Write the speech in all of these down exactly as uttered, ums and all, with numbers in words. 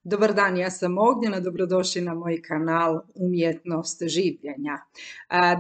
Dobar dan, ja sam Ognjena, dobrodošli na moj kanal Umjetnost življenja.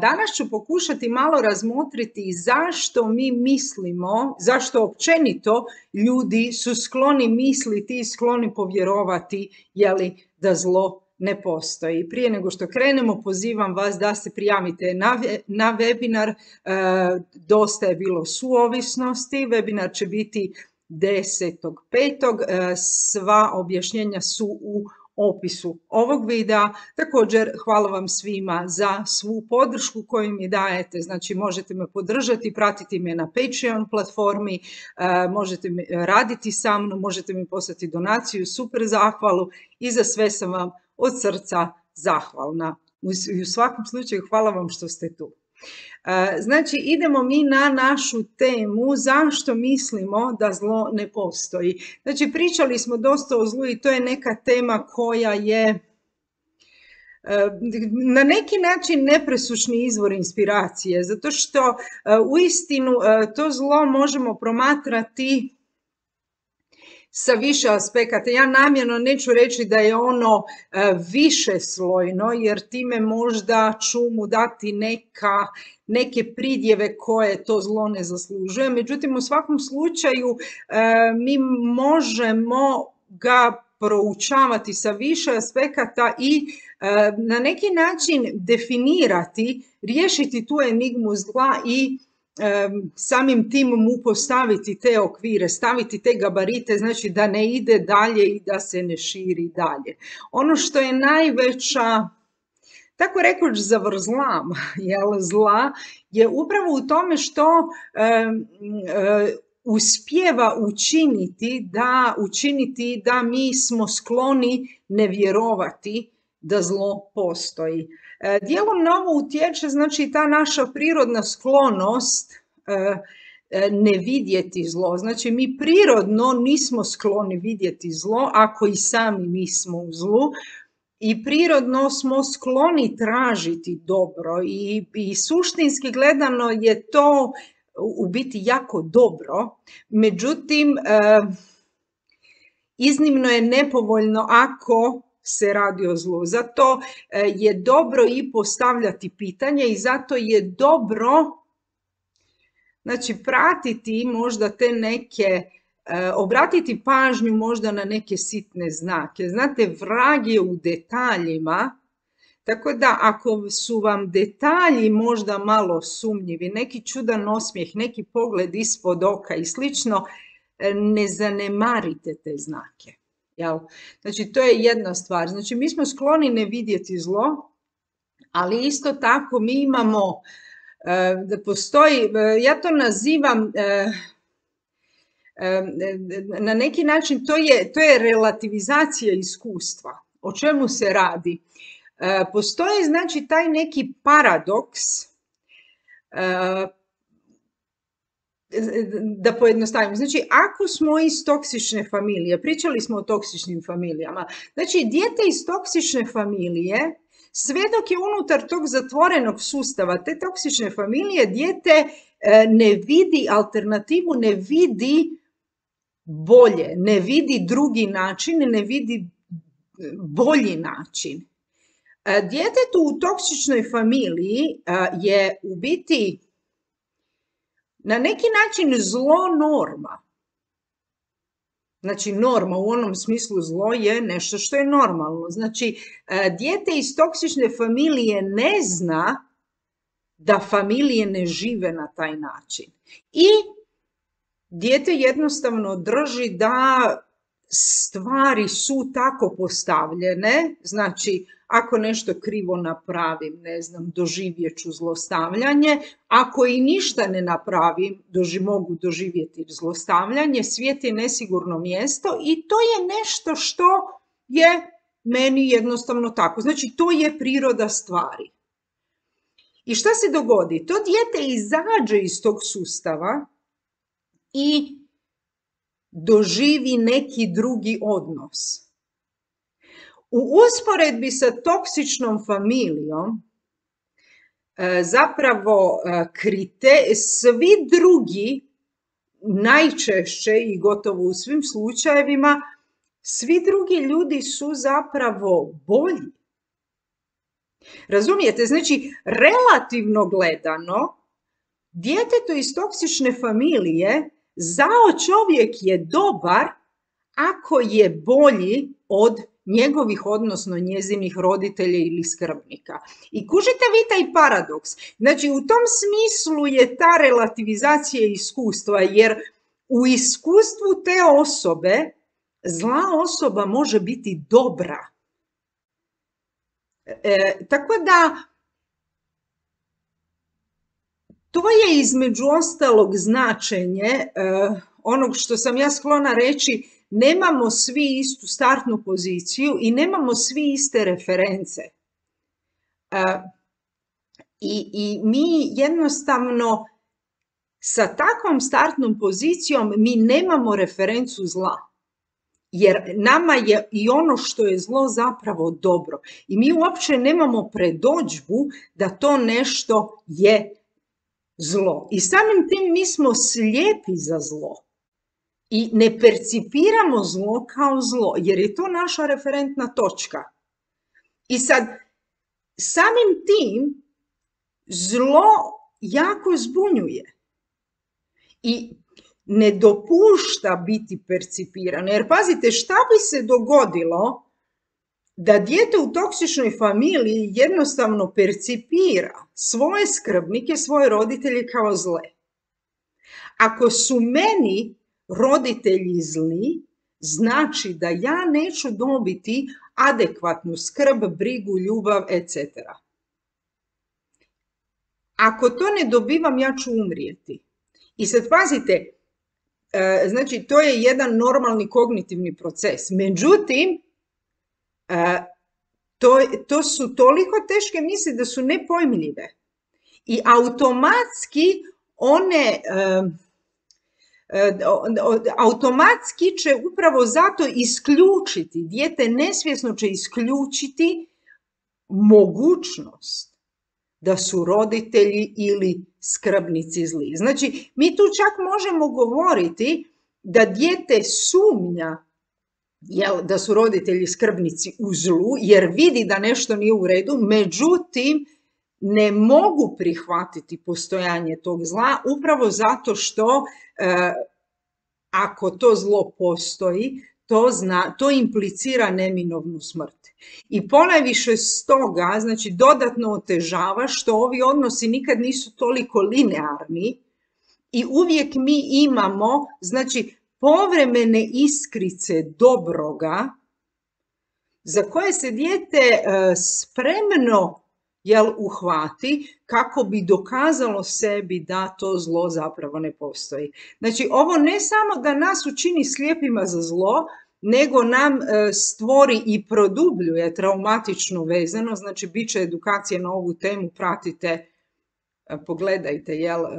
Danas ću pokušati malo razmotriti zašto mi mislimo, zašto općenito ljudi su skloni misliti i skloni povjerovati jeli, da zlo ne postoji. Prije nego što krenemo, pozivam vas da se prijavite na, na webinar. E, dosta je bilo suovisnosti, webinar će biti desetog petog Sva objašnjenja su u opisu ovog videa. Također hvala vam svima za svu podršku koju mi dajete, znači možete me podržati, pratiti me na Patreon platformi, možete raditi sa mnom, možete mi poslati donaciju, super zahvalu i za sve sam vam od srca zahvalna. I u svakom slučaju hvala vam što ste tu. Znači, idemo mi na našu temu zašto mislimo da zlo ne postoji. Znači, pričali smo dosta o zlu i to je neka tema koja je na neki način nepresušni izvor inspiracije, zato što uistinu to zlo možemo promatrati sa više aspekata. Ja namjerno neću reći da je ono više slojno, jer time možda ću mu dati neka, neke pridjeve koje to zlo ne zaslužuje. Međutim, u svakom slučaju mi možemo ga proučavati sa više aspekata i na neki način definirati, riješiti tu enigmu zla i samim tim mu postaviti te okvire, staviti te gabarite, znači da ne ide dalje i da se ne širi dalje. Ono što je najveća, tako rekoć, zavrzlam jel, zla je upravo u tome što e, e, uspijeva učiniti da, učiniti da mi smo skloni ne vjerovati da zlo postoji. Dijelom na ovo utječe, znači, ta naša prirodna sklonost ne vidjeti zlo. Znači, mi prirodno nismo skloni vidjeti zlo, ako i sami nismo u zlu, i prirodno smo skloni tražiti dobro i, i suštinski gledano je to u biti jako dobro. Međutim, iznimno je nepovoljno ako se radi o zlu. Zato je dobro i postavljati pitanje i zato je dobro, znači, pratiti možda te neke, obratiti pažnju možda na neke sitne znake. Znate, vrag je u detaljima, tako da ako su vam detalji možda malo sumnjivi, neki čudan osmijeh, neki pogled ispod oka i slično, ne zanemarite te znake. Jel? Znači, to je jedna stvar. Znači, mi smo skloni ne vidjeti zlo, ali isto tako mi imamo, da postoji, ja to nazivam, na neki način, to je, to je relativizacija iskustva. O čemu se radi? Postoji, znači, taj neki paradoks, da pojednostavim. Znači, ako smo iz toksične familije, pričali smo o toksičnim familijama, znači, dijete iz toksične familije, sve dok je unutar tog zatvorenog sustava, te toksične familije, dijete ne vidi alternativu, ne vidi bolje, ne vidi drugi način, ne vidi bolji način. Djetetu u toksičnoj familiji je u biti na neki način zlo norma. Znači, norma u onom smislu zlo je nešto što je normalno. Znači, dijete iz toksične familije ne zna da familije ne žive na taj način. I dijete jednostavno drži da stvari su tako postavljene, znači, ako nešto krivo napravim, ne znam, doživjet ću zlostavljanje. Ako i ništa ne napravim, doži, mogu doživjeti zlostavljanje. Svijet je nesigurno mjesto i to je nešto što je meni jednostavno tako. Znači, to je priroda stvari. I šta se dogodi? To dijete izađe iz tog sustava i doživi neki drugi odnos. U usporedbi sa toksičnom familijom, zapravo krite, svi drugi, najčešće i gotovo u svim slučajevima, svi drugi ljudi su zapravo bolji. Razumijete? Znači, relativno gledano, djetetu iz toksične familije zao čovjek je dobar ako je bolji od njegovih, odnosno njezinih roditelja ili skrbnika. I kužite vi taj paradoks. Znači, u tom smislu je ta relativizacija iskustva, jer u iskustvu te osobe zla osoba može biti dobra. E, tako da, to je između ostalog značenje e, onog što sam ja sklona reći, nemamo svi istu startnu poziciju i nemamo svi iste reference. E, i, I mi jednostavno sa takvom startnom pozicijom mi nemamo referencu zla. Jer nama je i ono što je zlo zapravo dobro. I mi uopće nemamo predodžbu da to nešto je zlo. I samim tim mi smo slijepi za zlo. I ne percipiramo zlo kao zlo, jer je to naša referentna točka. I sad, samim tim, zlo jako zbunjuje. I ne dopušta biti percipirano. Jer pazite, šta bi se dogodilo da dijete u toksičnoj familiji jednostavno percipira svoje skrbnike, svoje roditelje kao zle. Ako su meni roditelji zli, znači da ja neću dobiti adekvatnu skrb, brigu, ljubav, et cetera. Ako to ne dobivam, ja ću umrijeti. I sad pazite, znači to je jedan normalni kognitivni proces. Međutim, to, to su toliko teške misli da su nepojmljive. I automatski one... automatski će upravo zato isključiti, dijete nesvjesno će isključiti mogućnost da su roditelji ili skrbnici zli. Znači, mi tu čak možemo govoriti da dijete sumnja jel, da su roditelji skrbnici u zlu, jer vidi da nešto nije u redu, međutim, ne mogu prihvatiti postojanje tog zla, upravo zato što e, ako to zlo postoji, to, zna, to implicira neminovnu smrt. I ponajviše stoga, znači dodatno otežava što ovi odnosi nikad nisu toliko linearni i uvijek mi imamo, znači, povremene iskrice dobroga za koje se dijete e, spremno jel, uhvati kako bi dokazalo sebi da to zlo zapravo ne postoji. Znači, ovo ne samo da nas učini slijepima za zlo, nego nam e, stvori i produbljuje traumatičnu vezano, znači bit će edukacije na ovu temu, pratite, e, pogledajte jel, e,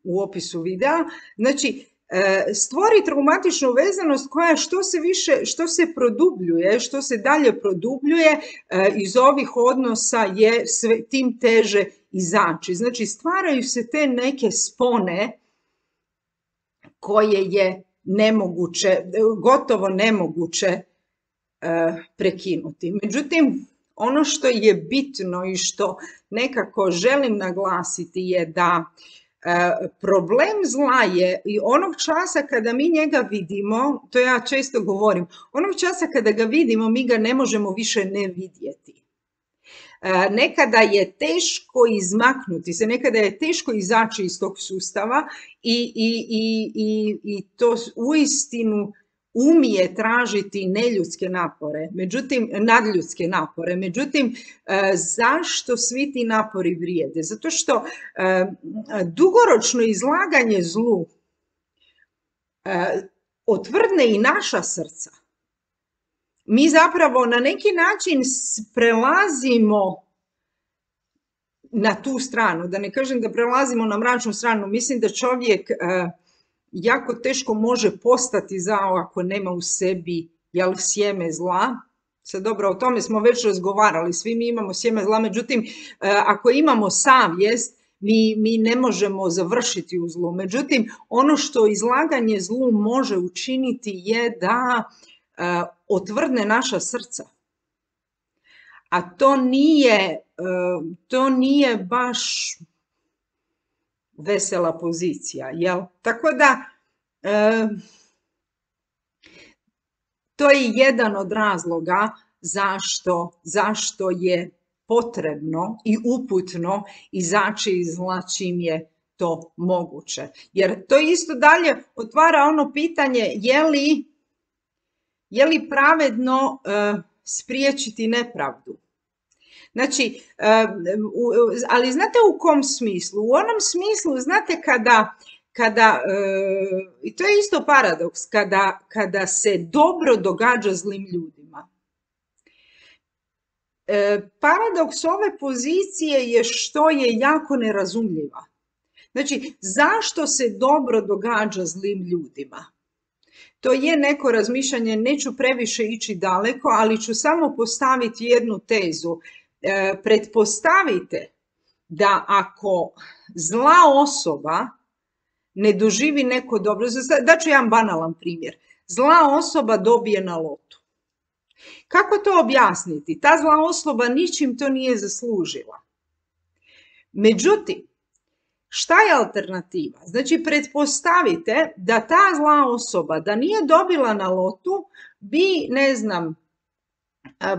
u opisu videa. Znači, e, stvori traumatičnu vezanost koja što se više, što se produbljuje, što se dalje produbljuje e, iz ovih odnosa je sve, tim teže izaći. Znači, stvaraju se te neke spone koje je nemoguće, gotovo nemoguće e, prekinuti. Međutim, ono što je bitno i što nekako želim naglasiti je da e, problem zla je i onog časa kada mi njega vidimo, to ja često govorim, onog časa kada ga vidimo mi ga ne možemo više ne vidjeti. E, nekada je teško izmaknuti se, nekada je teško izaći iz tog sustava i, i, i, i, i to uistinu umije tražiti neljudske napore, međutim, nadljudske napore. Međutim, e, zašto svi ti napori vrijede? Zato što e, dugoročno izlaganje zlu e, otvrdne i naša srca. Mi zapravo na neki način prelazimo na tu stranu, da ne kažem da prelazimo na mračnu stranu. Mislim da čovjek e, jako teško može postati zao ako nema u sebi jel, sjeme zla. Sad dobro, o tome smo već razgovarali, svi mi imamo sjeme zla, međutim, e, ako imamo savjest, mi, mi ne možemo završiti u zlu. Međutim, ono što izlaganje zlu može učiniti je da otvrdne naša srca. A to nije, to nije baš vesela pozicija, jel? Tako da, to je jedan od razloga zašto, zašto je potrebno i uputno izaći iz zla čim je to moguće. Jer to isto dalje otvara ono pitanje je li, je li pravedno uh, spriječiti nepravdu. Znači, uh, u, ali znate u kom smislu? U onom smislu, znate kada, kada uh, i to je isto paradoks, kada, kada se dobro događa zlim ljudima. Uh, paradoks ove pozicije je što je jako nerazumljiva. Znači, zašto se dobro događa zlim ljudima? To je neko razmišljanje, neću previše ići daleko, ali ću samo postaviti jednu tezu. E, pretpostavite da ako zla osoba ne doživi neko dobro, daću jedan banalan primjer, zla osoba dobije na lotu. Kako to objasniti? Ta zla osoba ničim to nije zaslužila. Međutim, šta je alternativa? Znači, pretpostavite da ta zla osoba, da nije dobila na lotu, bi, ne znam,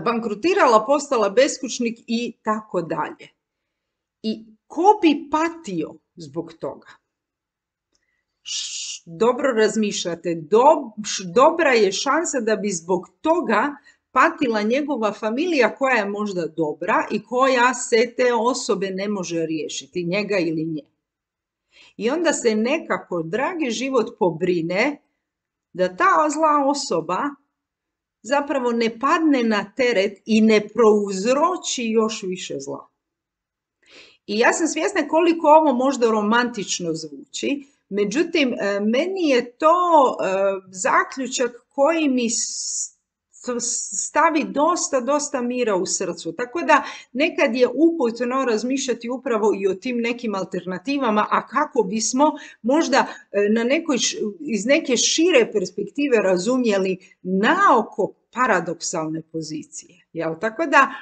bankrotirala, postala beskućnik i tako dalje. I ko bi patio zbog toga? Dobro razmišljate, dobra je šansa da bi zbog toga patila njegova familija koja je možda dobra i koja se te osobe ne može riješiti, njega ili nje. I onda se nekako, dragi život, pobrine da ta zla osoba zapravo ne padne na teret i ne prouzroči još više zla. I ja sam svjesna koliko ovo možda romantično zvuči, međutim, meni je to zaključak koji mi stavi dosta, dosta mira u srcu. Tako da nekad je uputno razmišljati upravo i o tim nekim alternativama, a kako bismo možda na nekoj, iz neke šire perspektive razumjeli naoko paradoksalne pozicije. Jel? Tako da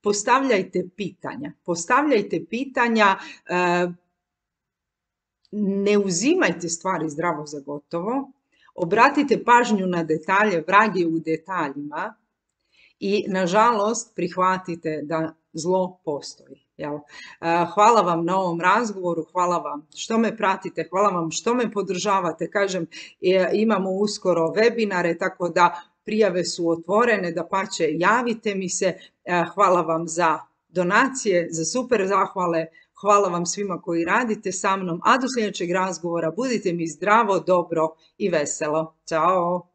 postavljajte pitanja. Postavljajte pitanja, ne uzimajte stvari zdravo za gotovo. Obratite pažnju na detalje, vrag je u detaljima i, nažalost, prihvatite da zlo postoji. Jel? Hvala vam na ovom razgovoru, hvala vam što me pratite, hvala vam što me podržavate. Kažem, imamo uskoro webinare, tako da prijave su otvorene, dapače javite mi se. Hvala vam za donacije, za super zahvale. Hvala vam svima koji radite sa mnom, a do sljedećeg razgovora budite mi zdravo, dobro i veselo. Ćao!